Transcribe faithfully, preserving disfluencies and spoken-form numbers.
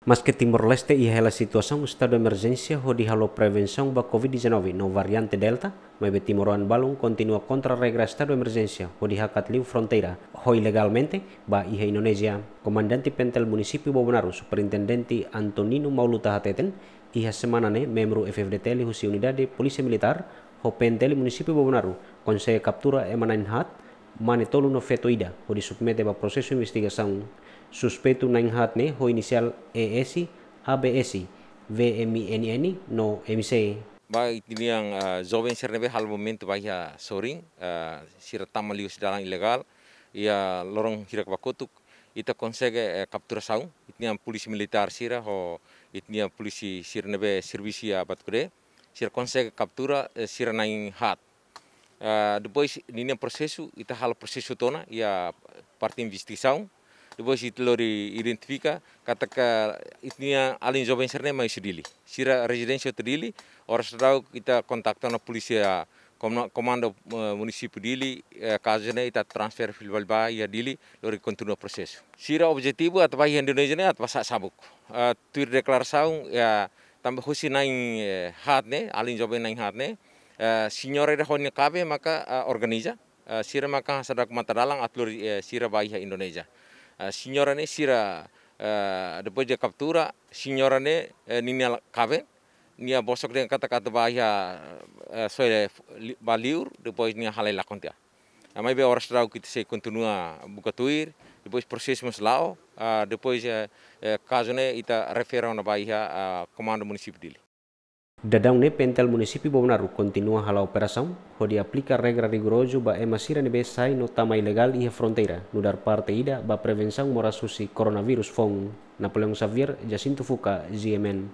Maske Timor-Leste iha hela situasaun estadu emerjénsia hodi halo prevensaun ba covid dezanove no variante Delta, maibé timoroan balun kontinua kontra regra estadu emerjénsia hodi hakat liu fronteira ho ilegalmente ba iha Indonézia. Komandante Pentel Munisípiu Bobonaro, Superintendente Antonino Mauluta hateten, iha semana ne'e membru F-FDTL husi Unidade Polísia Militár ho P N T L Munisípiu Bobonaro konsege kaptura ema na'in haat, mane tolu no feto ida, hodi submete ba prosesu investigasaun. Suspeitu na'in haat ne'e ho inisiál E S, A B S, V M I N N no M C. Ba ita-nia, ah, joven sira ne'ebé halo movimentu ba iha sorin, ah, sira tama liu husi dalan ilegál, iha loron hirak ba kotuk, ita konsege, eh, kapturasaun, ita-nia polísia militár sira ho ita-nia polísia sira ne'ebé servisu iha Batucadé, sira konsege kaptura, eh, sira na'in haat. Ah, depois ninia prosesu, ita halo prosesu tiha ona iha parte investigasaun. Depois ita lori identifika katak ita-nia alin joven sira ne'e mai husi Dili. Sira rezidénsia hotu Dili, oras daudauk ita kontaktu ona polísia komna-, komandu, eh, munisípiu Dili, eh, kazu ne'e ita transfere fila fali ba iha Dili, lori kontinua prosesu. Sira objetivu atu ba iha Indonézia ne'e atu ba sa'e sabuk. Eh, tuir deklarasaun, ya, tanba husi na'in, eh, haat ne'e, alin joven na'in haat ne'e, eh, señora ida ho nia kaben maka, eh, organiza, eh, sira maka hasa'e daudauk matadalan atu lori, eh, sira ba iha Indonézia. Eh, señora ne'e sira, eh, depois de kaptura, señora ne'e, eh, ninia la-, kaben, nia bosok dehan katak atu ba iha, eh, soe li-, ba liur, depois nia halai lakon tiha. Ah, maibé oras daudauk ita sei kontinua buka tuir, depois prosesu mós la'o, ah, depois, eh, eh, kazu ne'e ita refere ona ba iha, ah, komandu munisípiu Dili. Daudaun ne'e P N T L Munisípiu Bobonaro kontinua hala'o operasaun, hodi aplika regra rigorozu ba ema sira ne'ebé sai no tama ilegál iha fronteira, nu'udar parte ida ba prevensaun moras husi koronavírus foun. Napoleão Xavier, Jacinto Fuca, G M N.